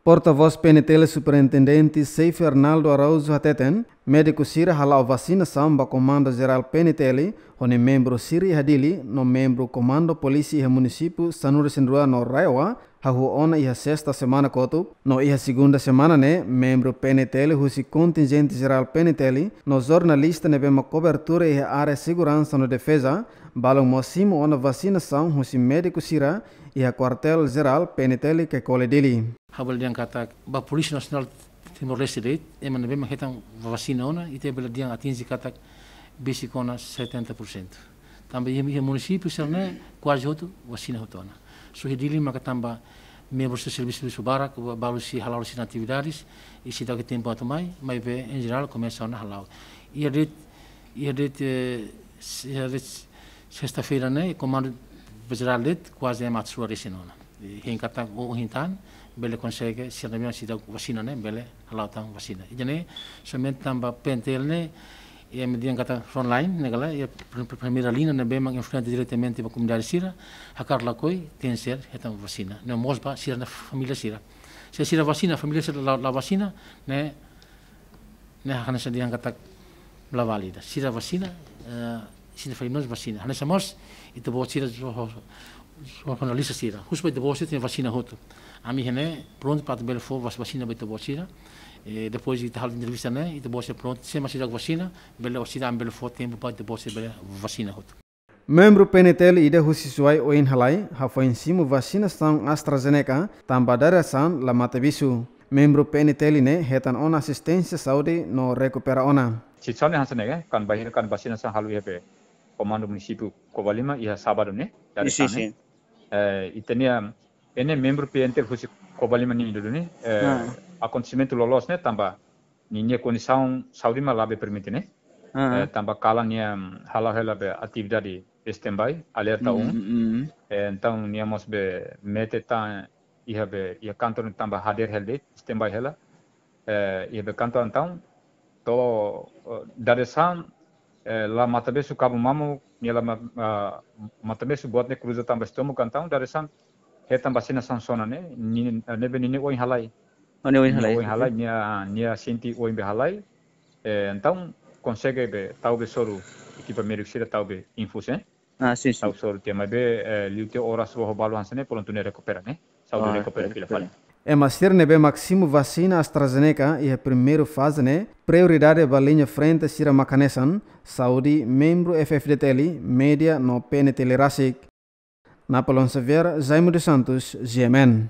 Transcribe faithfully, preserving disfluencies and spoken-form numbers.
Portavós P N T L Superintendente Seif Arnaldo Araújo hateten, médiku sira hala'o vasinasaun ba Komandu Jerál P N T L, ho nia membru sira iha Dili, no membru Komandu Polísia iha munisípiu sanulu-resin-rua no RAEOA, hahú ona iha sesta semana kotuk, no iha segunda semana ne'e, membru P N T L husi kontinjente jerál P N T L, no jornalista ne'ebé mak kobertura iha área seguransa no defeza, balun mós simu ona vasinasaun husi médiku sira iha kuartél jerál P N T L Caicoli Dili. Ha'u bele dehan katak ba Polísia Nasionál Timor-Leste de'it, ema ne'ebé mak hetan vasina ona, ita bele dehan atinje katak besik ona setenta por cento. Tanba iha, iha munisípiu sira ne'e kuaze hotu vasina hotu ona. Só iha Dili maka tanba membru sira servisu, servisu barak, ba-, balu sei hala'o sira-nia atividades, i seidauk iha tempu atu mai, maibé, em geral, komesa ona hala'o. Iha de'it, iha de'it, eh, s-, iha de'it sesta-feira ne'e, Komandu Jerál de'it, kuaze ema atus rua resin ona. I hein katak ohin tan, bele konsege, sira ne'ebé seidauk vasina ne'e, bele hala'o tan vasina. Ida-ne'e, somente tanba P N T L ne'e, iha ema dehan katak frontline, ne'e ka lae, iha pr-, pr-, primeira linha ne'ebé mak enfrenta diretamente ba komunidade sira, hakarak lakohi, tenke ser hetan vasina. No mós ba sira-nia família sira. Se sira vasina, família sira la, la vasina, ne'e, ne'e hanesan dehan katak la válida. Sira vasina, eh, sira família mós vasina. Hanesan mós, ita-boot sira, jo-, jo-, jornalista sira. Husu ba ita-boot sira tenke vasina hotu. Ami iha ne'e prontu para atu bele fó vas-, vasina ba ita-boot sira. Eh, depois ita halo entrevista ne'e, ita-boot sira prontu. Se ema seidauk vasina, bele orsida ami bele fó tempu para ita-boot sira bele vasina hotu. Membru P N T L ida husi Suai ohin halai, hafoin simu vasinasaun AstraZeneca, tanba dadeer-saan la matabixu. Membru P N T L ne'e hetan ona asisténsia saúde no rekupera ona. Situasaun ne'e hanesan ne'e, kan bainhira kan vasinasaun halo iha be Komandu Munisípiu Covalima iha sábadu ne'e, dadeer-saan ne'e. Sim, sim. Eh, ita-nia, ene membru P N T L husi Covalima nian duni ne'e, eh, akontesimentu loloos ne'e tanba ninia kondisaun saúde mak labele permite ne'e. Eh, tanba kalan nia, mm, hala'o hela be atividade standby, alerta um. Eh, entaun nia mós be mete tan iha be, iha kantor tanba hadeer hela de'it, standby hela. Eh, iha be kantor entaun, to'o, eh, dadeer-saan, eh, la matabixu kabu mamuk, nia la ma-, ah, matabixu buat ne'e kruza tanba estómagu entaun, dadeer-saan, hetan vasinasaun sona ne'e, ni-, ne'ebé ninia oin halai. Oh, nia oin halai, oke. Nia, nia sente oin be halai. Eh, entaun, konsege be, tau be soru, ekipa médiku sira tau be infus, eh? Ah, sim, sim. Tau soru tiha, maibé, eh, liu tiha oras rua ho balu hanesan ne'e, prontu nia rekupera, ne'e? Saúde rekupera fila fali. Ema sira ne'ebé mak simu vasina AstraZeneca iha primeiru faze ne'e, prioridade ba liña frente sira mak hanesan, saúde, membru F F D T L, média no P N T L rasik. Napoleon Xavier, Jaime dos Santos, G M N.